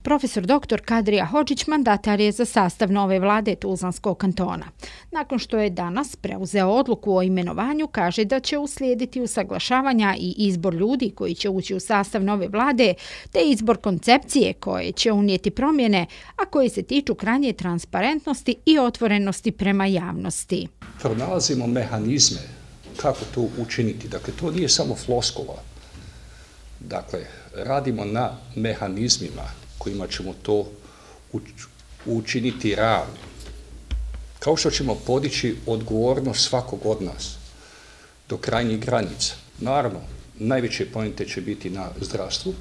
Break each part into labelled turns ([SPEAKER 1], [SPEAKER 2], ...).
[SPEAKER 1] Profesor dr. Kadrija Hodžić mandatar je za sastav nove vlade Tuzlanskog kantona. Nakon što je danas preuzeo odluku o imenovanju, kaže da će uslijediti usaglašavanja i izbor ljudi koji će ući u sastav nove vlade, te izbor koncepcije koje će unijeti promjene, a koje se tiču krajnje transparentnosti i otvorenosti prema javnosti.
[SPEAKER 2] Pronalazimo mehanizme kako to učiniti. Dakle, to nije samo floskula. Dakle, radimo na mehanizmima kojima ćemo to učiniti realnim. Kao što ćemo podići odgovornost svakog od nas do krajnjih granica. Naravno, najveće pointe će biti na zdravstvu,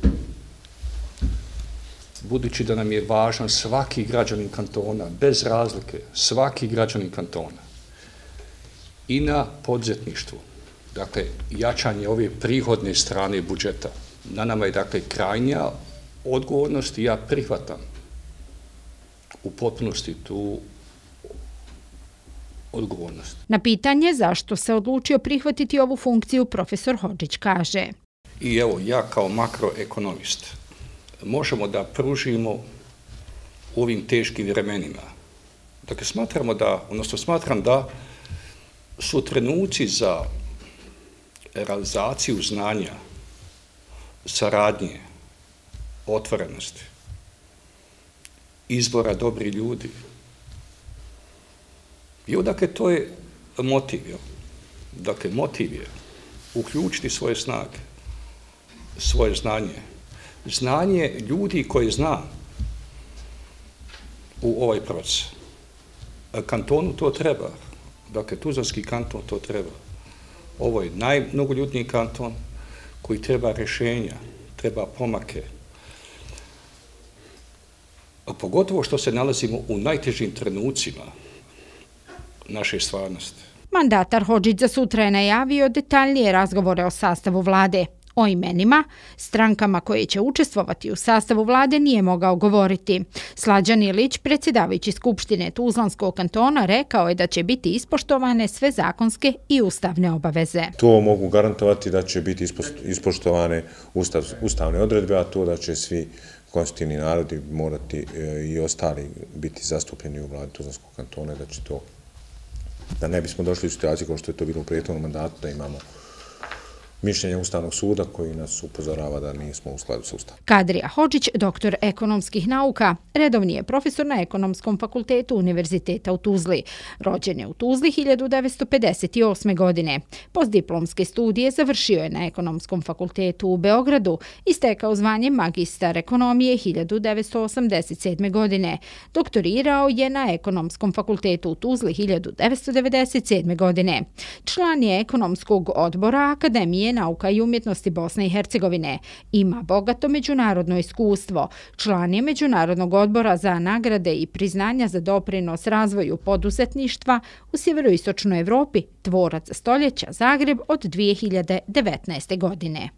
[SPEAKER 2] budući da nam je važan svaki građanin kantona, bez razlike, svaki građanin kantona. I na poduzetništvu, dakle, jačanje ove prihodne strane budžeta. Na nama je, dakle, krajnja odgovornost i ja prihvatam u potpunosti tu odgovornost.
[SPEAKER 1] Na pitanje zašto se odlučio prihvatiti ovu funkciju, profesor Hodžić kaže.
[SPEAKER 2] I evo, ja kao makroekonomist možemo da pružimo u ovim teškim vremenima. Dakle, smatram da su trenuci za realizaciju znanja, saradnje, otvorenosti, izbora dobrih ljudi. I dakle, to je motiv. Dakle, motiv je uključiti svoje snage, svoje znanje ljudi koji zna u ovaj proces. Kantonu to treba. Dakle, Tuzlanski kanton to treba. Ovo je najmnogoljudniji kanton koji treba rješenja, treba pomake. Pogotovo što se nalazimo u najtežim trenucima naše stvarnosti.
[SPEAKER 1] Mandatar Hodžić za sutra je najavio detaljnije razgovore o sastavu vlade. O imenima, strankama koje će učestvovati u sastavu vlade nije mogao govoriti. Slađan Ilić, predsjedavajući Skupštine Tuzlanskog kantona, rekao je da će biti ispoštovane sve zakonske i ustavne obaveze.
[SPEAKER 3] To mogu garantovati da će biti ispoštovane ustavne odredbe, a to da će svi konstitutivni narodi morati i ostali biti zastupljeni u vladi Tuzlanskog kantona, da ne bismo došli u situaciju kao što je to bilo u prethodnom mandatu, da imamo mišljenje Ustavnog suda koji nas upozorava da nismo u skladu sa Ustavom.
[SPEAKER 1] Kadrija Hodžić, doktor ekonomskih nauka, redovni je profesor na Ekonomskom fakultetu Univerziteta u Tuzli. Rođen je u Tuzli 1958. godine. Postdiplomske studije završio je na Ekonomskom fakultetu u Beogradu i stekao zvanje magistar ekonomije 1987. godine. Doktorirao je na Ekonomskom fakultetu u Tuzli 1997. godine. Član je Ekonomskog odbora Akademije nauka i umjetnosti Bosne i Hercegovine. Ima bogato međunarodno iskustvo. Član je Međunarodnog odbora za nagrade i priznanja za doprinos razvoju poduzetništva u sjeveroistočnoj Evropi, tvorac stoljeća Zagreb od 2019. godine.